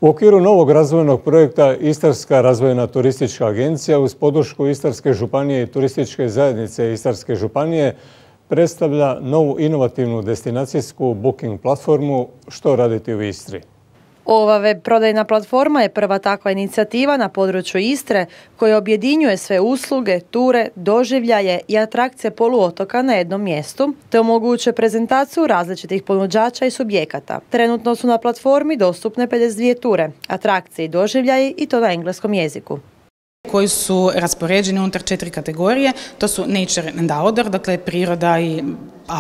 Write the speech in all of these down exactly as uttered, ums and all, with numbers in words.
U okviru novog razvojnog projekta Istarska razvojna turistička agencija uz podršku Istarske županije i turističke zajednice Istarske županije predstavlja novu inovativnu destinacijsku booking platformu Što raditi u Istri. Ova web prodajna platforma je prva takva inicijativa na području Istre koja objedinjuje sve usluge, ture, doživljaje i atrakcije poluotoka na jednom mjestu te omogućuje prezentaciju različitih ponuđača i subjekata. Trenutno su na platformi dostupne pedeset dvije ture, atrakcije i doživljaji i to na engleskom jeziku. Koji su raspoređeni unutar četiri kategorije, to su nature and outdoor, dakle priroda i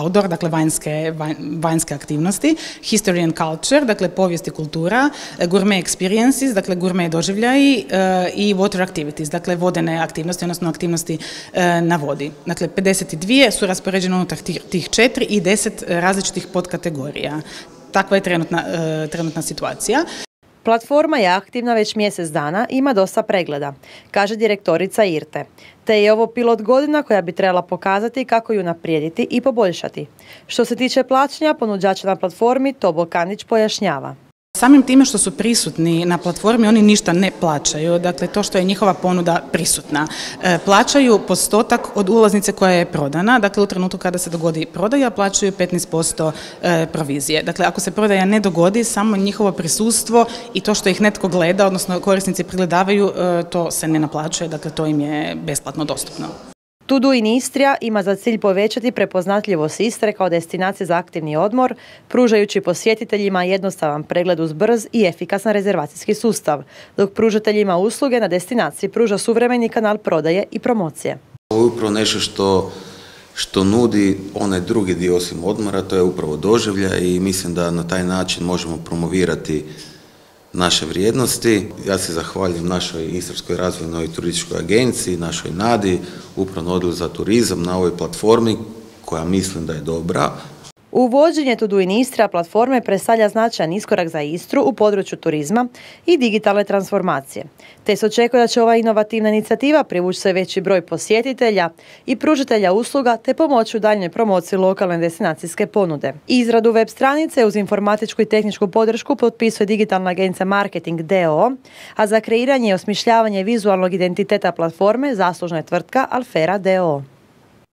outdoor, dakle vanjske, vanjske aktivnosti, history and culture, dakle povijest i kultura, gourmet experiences, dakle gourmet doživljaji i water activities, dakle vodene aktivnosti, odnosno aktivnosti na vodi. Dakle, pedeset dvije su raspoređene unutar tih četiri i deset različitih podkategorija. Takva je trenutna, trenutna situacija. Platforma je aktivna već mjesec dana i ima dosta pregleda, kaže direktorica Irte. Te je ovo pilot godina koja bi trebala pokazati kako ju unaprijediti i poboljšati. Što se tiče plaćanja ponuđača na platformi, Tobo Kandić pojašnjava. Samim time što su prisutni na platformi, oni ništa ne plaćaju, dakle to što je njihova ponuda prisutna. E, plaćaju postotak od ulaznice koja je prodana, dakle u trenutku kada se dogodi prodaja plaćaju petnaest posto e, provizije. Dakle, ako se prodaja ne dogodi, samo njihovo prisustvo i to što ih netko gleda, odnosno korisnici pregledavaju, e, to se ne naplaćuje, dakle to im je besplatno dostupno. To Do in Istria ima za cilj povećati prepoznatljivost Istre kao destinacije za aktivni odmor, pružajući posjetiteljima jednostavan pregled uz brz i efikasan rezervacijski sustav, dok pružateljima usluge na destinaciji pruža suvremeni kanal prodaje i promocije. Ovo je upravo nešto što, što nudi onaj drugi dio osim odmora, to je upravo doživljaj i mislim da na taj način možemo promovirati naše vrijednosti. Ja se zahvaljujem našoj Istarskoj razvojnoj turističkoj agenciji, našoj Nadi, Upravnom odjelu za turizam na ovoj platformi koja mislim da je dobra. Uvođenje To Do in Istria platforme predstavlja značajan iskorak za Istru u području turizma i digitalne transformacije. Te se očekuje da će ova inovativna inicijativa privući sve veći broj posjetitelja i pružitelja usluga te pomoći u daljnjoj promociji lokalne destinacijske ponude. Izradu web stranice uz informatičku i tehničku podršku potpisuje digitalna agencija Marketing d o o, a za kreiranje i osmišljavanje vizualnog identiteta platforme zaslužna je tvrtka Alfera d o o.